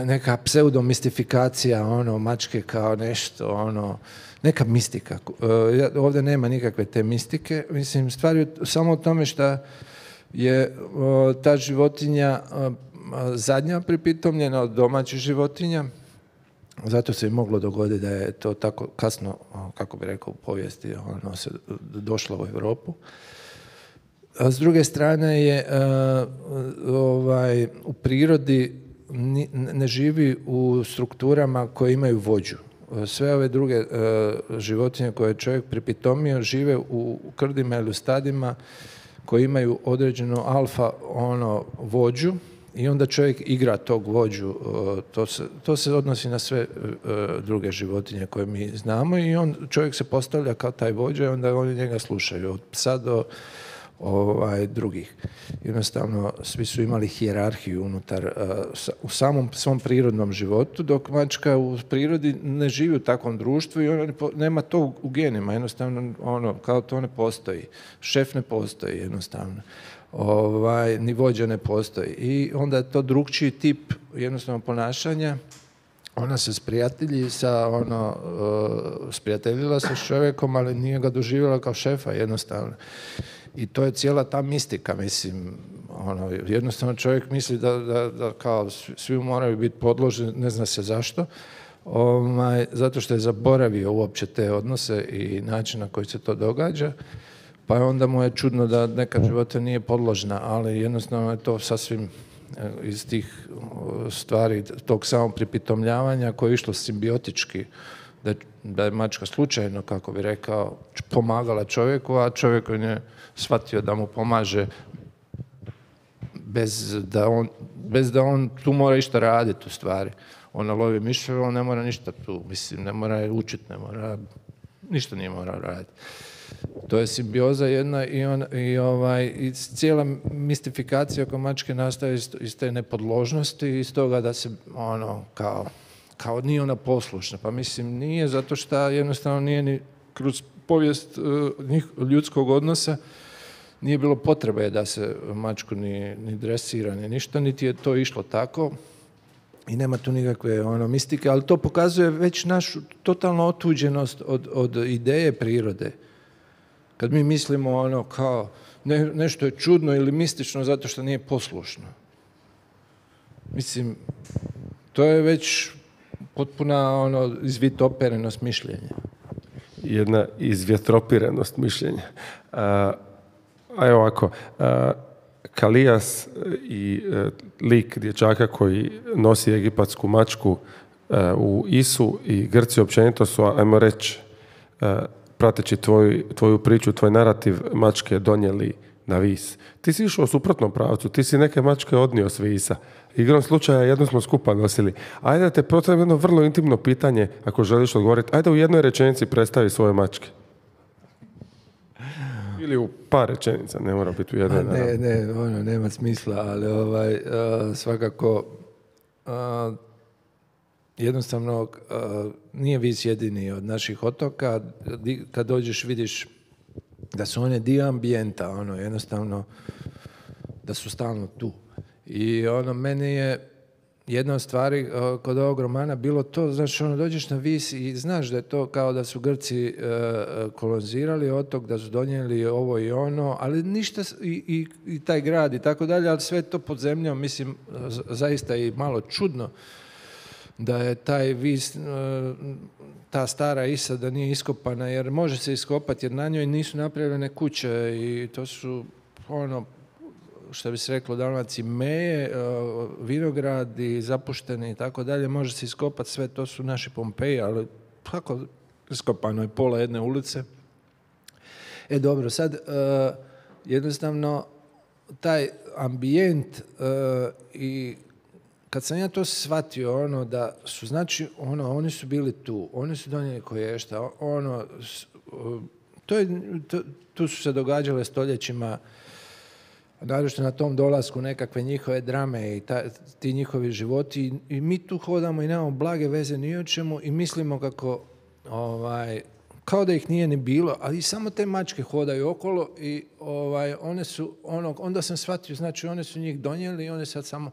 neka pseudomistifikacija ono, mačke kao nešto, ono, neka mistika. E, ovdje nema nikakve te mistike. Mislim, stvar je samo o tome što je o, ta životinja o, zadnja pripitomljena od domaćih životinja, zato se je moglo dogoditi da je to tako kasno, kako bi rekao, u povijesti ono se došlo u Europu. A s druge strane je uh, ovaj, u prirodi ni, ne živi u strukturama koje imaju vođu. Sve ove druge uh, životinje koje je čovjek pripitomio žive u, u krdima ili u stadima koji imaju određenu alfa ono vođu, i onda čovjek igra tog vođu, to se, to se odnosi na sve druge životinje koje mi znamo i on, čovjek se postavlja kao taj vođa i onda oni njega slušaju. Od psa do ovaj, drugih. Jednostavno, svi su imali hijerarhiju unutar, uh, u samom svom prirodnom životu, dok mačka u prirodi ne živi u takvom društvu i ona nema to u genima, jednostavno, ono, kao to ne postoji. Šef ne postoji, jednostavno. Ovaj, ni vođa ne postoji. I onda je to drugčiji tip jednostavno ponašanja. Ona se sprijatelji sa, ono, uh, sprijateljila se s čovjekom, ali nije ga doživjela kao šefa, jednostavno. I to je cijela ta mistika, mislim, ono, jednostavno čovjek misli da, da, da kao svi moraju biti podložni, ne zna se zašto, ovaj, zato što je zaboravio uopće te odnose i način na koji se to događa, pa onda mu je čudno da neka života nije podložna, ali jednostavno je to sasvim iz tih stvari, tog samog pripitomljavanja koje je išlo simbiotički, da, da je mačka slučajno, kako bi rekao, pomagala čovjeku, a čovjek je shvatio da mu pomaže bez da on, bez da on tu mora išta raditi u stvari. Ona lovi miševe, on ne mora ništa tu, mislim, ne mora učiti, ne mora, ništa nije mora raditi. To je simbioza jedna i, on, i, ovaj, i cijela mistifikacija oko mačke nastaje iz, iz te nepodložnosti, iz toga da se ono kao, kao nije ona poslušna. Pa mislim nije, zato što jednostavno nije ni kroz povijest uh, ljudskog odnosa nije bilo potrebe da se mačku ni, ni dresira, ni ništa, niti je to išlo tako. I nema tu nikakve ono, mistike, ali to pokazuje već našu totalnu otuđenost od, od ideje prirode. Kad mi mislimo ono kao ne, nešto je čudno ili mistično zato što nije poslušno. Mislim, to je već potpuna ono, izvitoperenost mišljenja. Jedna izvjetropiranost mišljenja. A, a evo ovako, a, Kalijas i a, lik dječaka koji nosi egipatsku mačku a, u Isu i Grci općenito su, ajmo reći, a, prateći tvoj, tvoju priču, tvoj narativ, mačke donijeli na vis. Ti si išao u suprotnom pravcu, ti si neke mačke odnio s visa. Igrom slučaja jednu smo skupa nosili. Ajde da te postavim jedno vrlo intimno pitanje, ako želiš odgovoriti. Ajde u jednoj rečenici predstavi svoje mačke. Ili u par rečenica, ne mora biti u jednoj. Ne, ne, ono, nema smisla, ali ovaj, uh, svakako uh, jednostavno uh, nije Vis jedini od naših otoka. Kad dođeš vidiš da su one dio ambijenta, ono, jednostavno da su stalno tu. I ono, meni je jedna od stvari uh, kod ovog romana bilo to, znači ono, dođeš na Vis i znaš da je to kao da su Grci uh, kolonizirali otok, da su donijeli ovo i ono, ali ništa, i, i, i taj grad i tako dalje, ali sve to pod zemljom, mislim, zaista i malo čudno da je taj Vis, ta stara Isa da nije iskopana, jer može se iskopati, jer na njoj nisu napravljene kuće i to su ono, što bi se reklo u Dalmaciji, meje, vinogradi, zapušteni i tako dalje, može se iskopati sve, to su naši Pompeji, ali kako iskopano je pola jedne ulice. E dobro, sad jednostavno taj ambijent i kad sam ja to shvatio, ono, da su, znači, ono, oni su bili tu, oni su donijeli koješta, ono, to je, to, tu su se događale stoljećima, naročito na tom dolasku nekakve njihove drame i ta, ti njihovi životi i, i mi tu hodamo i nemamo blage veze ni o čemu i mislimo kako, ovaj, kao da ih nije ni bilo, ali samo te mačke hodaju okolo i ovaj, one su, ono, onda sam shvatio, znači, one su njih donijeli i one sad samo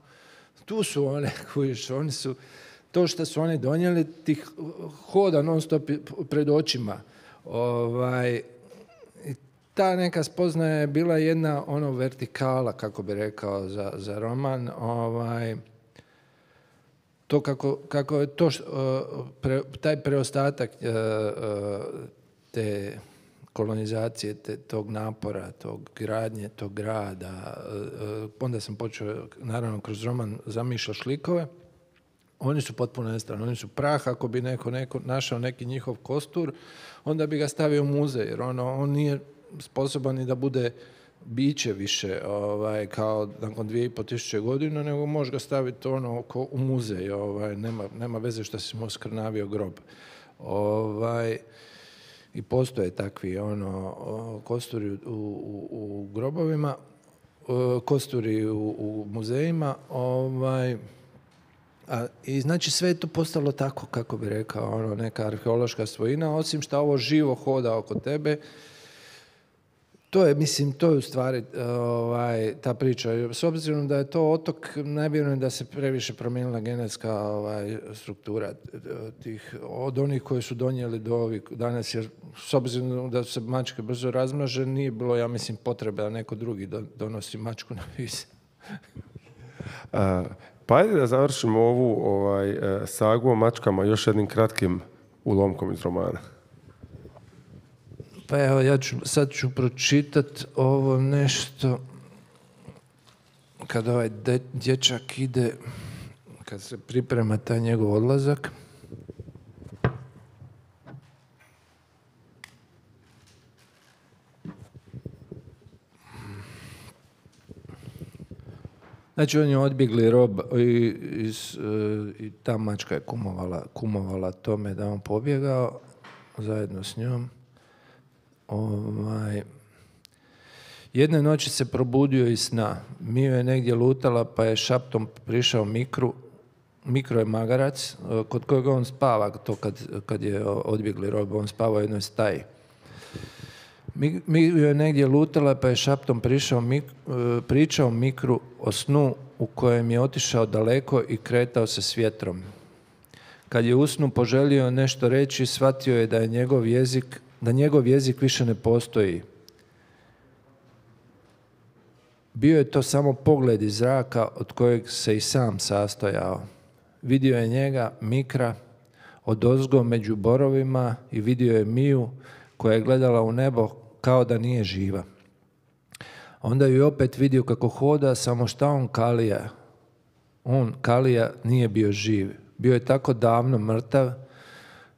tu su one, kojiš, oni su, to što su oni donijeli, tih hoda non stop pred očima. Ovaj, ta neka spoznaja je bila jedna ono vertikala, kako bi rekao, za, za roman. Ovaj, to kako, kako je to, pre, taj preostatak te kolonizacije, te, tog napora, tog gradnje, tog grada. Onda sam počeo, naravno, kroz roman zamišljati likove. Oni su potpuno nestali. Oni su prah. Ako bi neko, neko našao neki njihov kostur, onda bi ga stavio u muzej. Jer ono, on nije sposoban ni da bude biće više, ovaj, kao nakon dvije i po tisuće godina, nego može ga staviti ono oko, u muzej. Ovaj, nema, nema veze što si mu skrnavio grob. Ovaj, i postoje takvi ono, kosturi u, u, u grobovima, kosturi u, u muzejima, ovaj, a, i znači sve je to postalo tako, kako bi rekao, ono, neka arheološka svojina, osim što ovo živo hoda oko tebe. To je, mislim, to je u stvari ovaj, ta priča. S obzirom da je to otok, najvjerujem da se previše promijenila genetska ovaj, struktura tih, od onih koji su donijeli do ovih danas, jer s obzirom da se mačke brzo razmnože, nije bilo, ja mislim, potrebe da neko drugi donosi mačku na vis. Pa ajde da završimo ovu ovaj, sagu o mačkama još jednim kratkim ulomkom iz romana. Pa evo, ja ću, sad ću pročitati ovo nešto kad ovaj de, dječak ide, kad se priprema taj njegov odlazak. Znači, on je odbjegli rob i, iz, i ta mačka je kumovala, kumovala tome da on pobjegao zajedno s njom. Ovaj, jedne noći se probudio iz sna. Mio je negdje lutala, pa je šaptom prišao Mikru. Mikro je magarac, kod kojeg on spava, to kad, kad je odbjegli rob, on spava u jednoj staji. Mio je negdje lutala, pa je šaptom prišao, mik, pričao Mikru o snu u kojem je otišao daleko i kretao se s vjetrom. Kad je u snu poželio nešto reći, shvatio je da je njegov jezik da njegov jezik više ne postoji. Bio je to samo pogled iz zraka od kojeg se i sam sastojao. Vidio je njega, Mikra, odozgo među borovima i vidio je Miju koja je gledala u nebo kao da nije živa. Onda ju opet vidio kako hoda, samo šta on Kalija. On, Kalija, nije bio živ. Bio je tako davno mrtav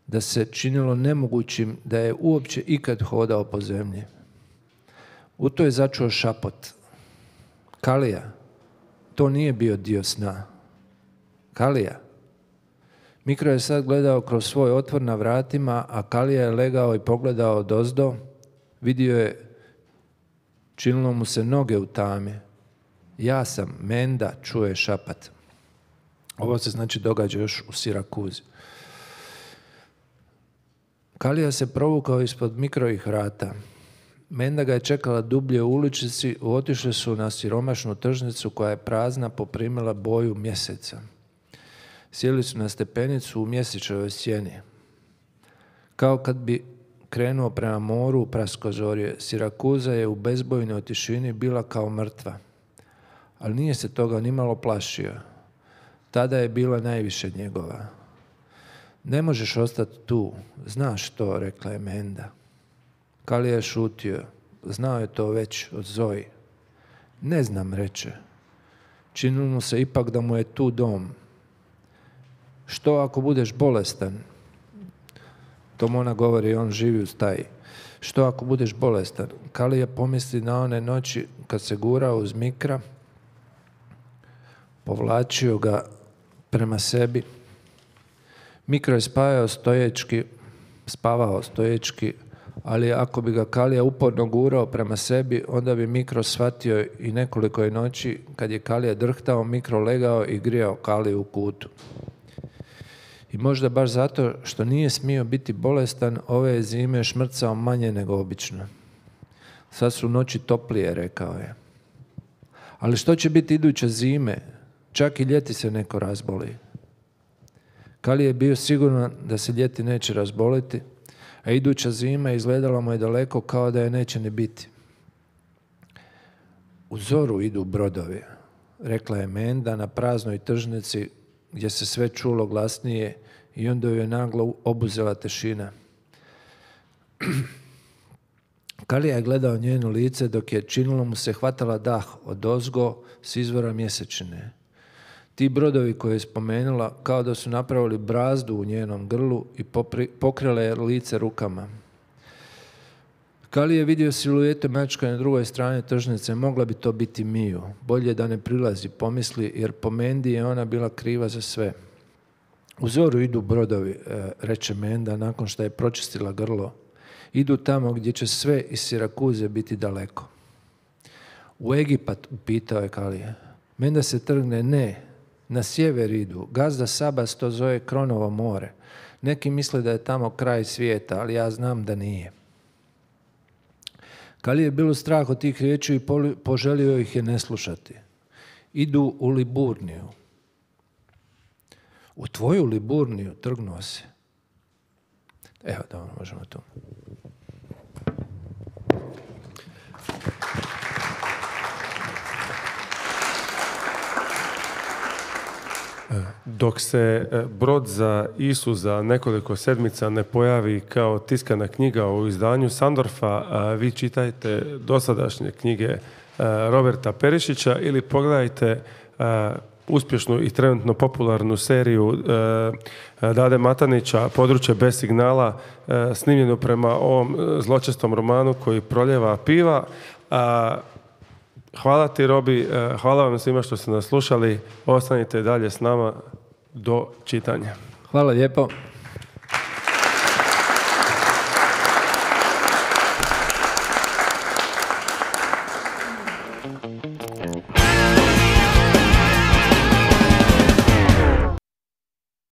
da se činilo nemogućim da je uopće ikad hodao po zemlji. U to je začuo šapot. Kalija, to nije bio dio sna. Kalija. Mikro je sad gledao kroz svoj otvor na vratima, a Kalija je legao i pogledao odozdo. Vidio je, činilo mu se noge u tami. Ja sam, Menda, čuje šapat. Ovo se znači događa još u Sirakuzi. Kalija se provukao ispod Mikrovih vrata. Menda ga je čekala dublje u uličici, otišli su na siromašnu tržnicu koja je prazna, poprimila boju mjeseca. Sjeli su na stepenicu u mjesečevoj sjeni. Kao kad bi krenuo prema moru u praskozorje, Sirakuza je u bezbojnoj tišini bila kao mrtva. Ali nije se toga nimalo plašio. Tada je bila najviše njegova. Ne možeš ostati tu, znaš to, rekla je Menda. Kalija je šutio, znao je to već od Zoji. Ne znam, reče. Činilo mu se ipak da mu je tu dom. Što ako budeš bolestan? To mu ona govori, on živi u staji. Što ako budeš bolestan? Kalija pomisli na one noći kad se gurao uz Mikra, povlačio ga prema sebi. Mikro je spavao stoječki, spavao stoječki, ali ako bi ga Kalija uporno gurao prema sebi, onda bi Mikro shvatio i nekoliko je noći, kad je Kalija drhtao, Mikro legao i grijao Kaliju u kutu. I možda baš zato što nije smio biti bolestan, ove je zime šmrcao manje nego obično. Sad su noći toplije, rekao je. Ali što će biti iduće zime? Čak i ljeti se neko razboli. Kalija je bio siguran da se ljeti neće razboliti, a iduća zima izgledala mu je daleko kao da je neće ni biti. U zoru idu brodovi, rekla je Menda na praznoj tržnici gdje se sve čulo glasnije i onda ju je naglo obuzela tišina. Kalija je gledao njeno lice dok je, činilo mu se, hvatala dah odozgo s izvora mjesečine. Ti brodovi koje je spomenula kao da su napravili brazdu u njenom grlu i popri, pokrile je lice rukama. Kalija je vidio siluetu mačka na drugoj strani tržnice, mogla bi to biti Miju. Bolje da ne prilazi, pomisli, jer po Mendi je ona bila kriva za sve. U zoru idu brodovi, reče Menda nakon što je pročistila grlo. Idu tamo gdje će sve iz Sirakuze biti daleko. U Egipat, upitao je Kalija. Menda se trgne, ne, na sjever idu. Gazda Sabas to zove Kronovo more. Neki misle da je tamo kraj svijeta, ali ja znam da nije. Kaliji je bilo strah od tih riječi i poželio ih je ne slušati. Idu u Liburniju. U tvoju Liburniju, trgnuo se. Evo, dobro, možemo tu. Dok se Brod za Isu za nekoliko sedmica ne pojavi kao tiskana knjiga u izdanju Sandorfa, vi čitajte dosadašnje knjige Roberta Perišića ili pogledajte uspješnu i trenutno popularnu seriju Dade Matanića Područje bez signala, snimljenu prema ovom zločestom romanu koji proljeva piva. Hvala ti, Robi, hvala vam svima što ste nas slušali. Ostanite dalje s nama do čitanja. Hvala lijepo.